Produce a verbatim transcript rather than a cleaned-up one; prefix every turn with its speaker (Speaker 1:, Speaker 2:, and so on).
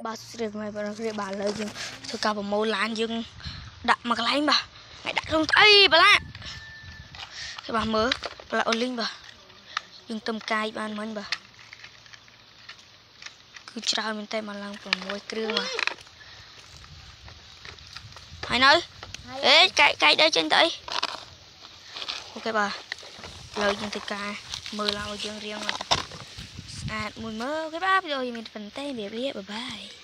Speaker 1: បាទ ស្រីមកបងគ្រា បាទ ឥឡូវយើងធ្វើការប្រមូលឡានយើងដាក់មកកន្លែង បាទ ថ្ងៃដាក់ក្នុងស្អីបឡាគេ បាទ មើលបឡាអូលីង បាទ យើងទឹមកាយបានមិញ បាទ គឺច្រើនមែនតើ មកឡើងប្រាំមួយគ្រឿង បាទ ហើយនៅអេកែកែកដែរចេញទៅអី អូខេ បាទ ឥឡូវយើងធ្វើការមើលឡើងឲ្យយើងរៀងស្អាតមួយមើល អូខេ បាទ វីដេអូយើងមានប៉ុណ្្នេះ វាវាបាយបាយ។